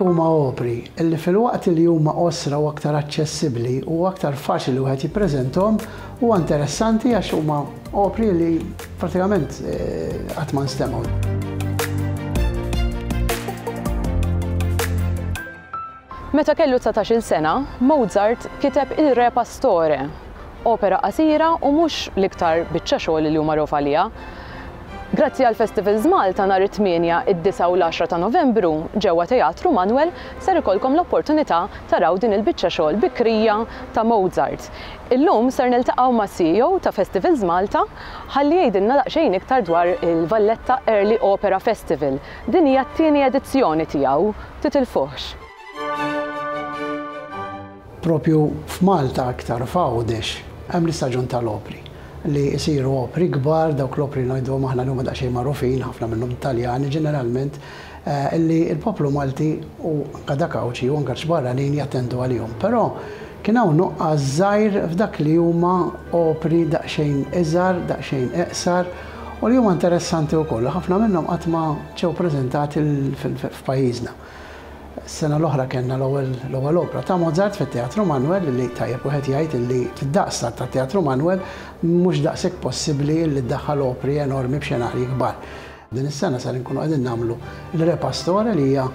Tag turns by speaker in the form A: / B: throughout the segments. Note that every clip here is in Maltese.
A: Huma opri li filwaqt li huma qosra u aktar aċċessibbli u aktar faċli li wieħed jippreżenthom, huwa interessanti għax huma opri li pratikament qatt ma nstemgħu.
B: Meta kellu dsatax-il sena, Mozart kiteb Il Re Pastore, opera qasira u mhux l-iktar biċċa xogħol li hu magħruf għaliha. Grazzi għal Festivals Malta nhar it-tmienja, id-disgħa u l-għaxra ta' Novembru ġewwa Teatru Manoel ser ikollkom l-opportunità taraw din il-biċċa xogħol bikrija ta' Mozart. Illum ser niltaqgħu mas-CEO ta' Festivals Malta ħalli jgħidilna daqsxejn iktar dwar il-Valletta Early Opera Festival. Din hija t-tieni edizzjoni tiegħu, titilfuhx.
A: Propju f'Malta aktar f'Għawdex hemm l-istaġun tal-opri li jsiru opri kbar, dawk l-opri ngħiduhom aħna li huma daqsxejn magħrufin, ħafna minnhom Taljani ġeneralment, li l-poplu Malti u anke dak Għawdxi u anke barranin jattendu għalihom. Però kien hawn nuqqas żgħir f'dak li huma opri daqsxejn iżgħar, daqsxejn iqsar u li huma interessanti wkoll u ħafna minnhom qatt ma ġew preżentati f'pajjiżna. Is-sena l-oħra kellna l-ewwel l-ewwel opra ta' Mozart fit-Teatru Manoel li tajjeb wieħed jgħid illi fid-daqs tat-Teatru Manoel mhux daqshekk possibbli illi ddaħħal opri enormi b'xenarji kbar. Din is-sena ser inkunu qegħdin nagħmlu Il Re Pastore li hija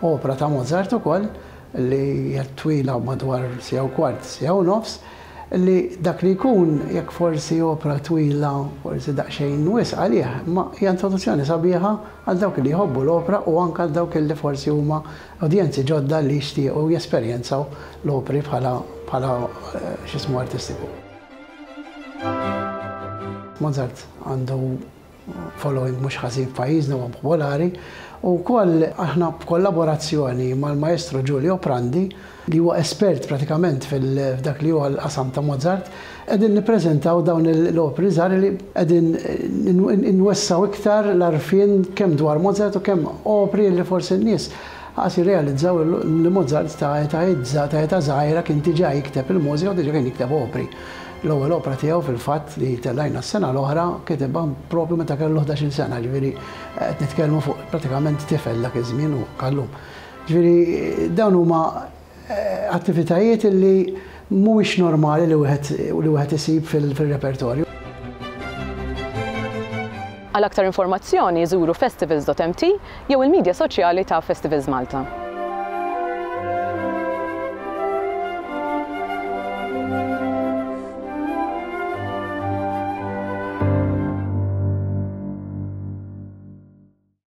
A: opra ta' Mozart ukoll li hija twila madwar siegħa u kwart, siegħa u nofs, li dak li jkun jekk forsi opra twila forsi daqsxejn wisq għalih, imma hija introduzzjoni sabiħa għal dawk li jħobbu l-opra u anke għal dawk li forsi huma udjenzi ġodda li jixtiequ jesperjenzaw l-opri bħala bħala x'ismu artistiku. Mozart għandu following mhux ħażin f'pajjiżna huwa popolari u wkoll aħna b'kollaborazzjoni mal-Maestro Giulio Prandi li huwa espert pratikament f'dak li huwa l-qasam ta' Mozart qegħdin nippreżentaw dawn l-opri żgħar li qegħdin inwessgħu iktar l-għarfien kemm dwar Mozart u kemm opri li forsi n-nies qas jirrealizzaw li Mozart ta' etajiet ta' età żgħira kien diġà jikteb il-mużika u diġà kien jikteb opri. L-ewwel opra tiegħu fil-fatt li tellajna s-sena l-oħra kitibha propju meta kellu 11-il sena, ġifieri qed nitkellmu fuq pratikament tifel dak iż-żmien u anke llum. Ġifieri dawn huma attivitajiet li mhuwiex normali li wieħed li wieħed isib fil-repertorju.
B: Għal aktar informazzjoni żuru festivals.mt jew il-midja soċjali ta' Festivals Malta.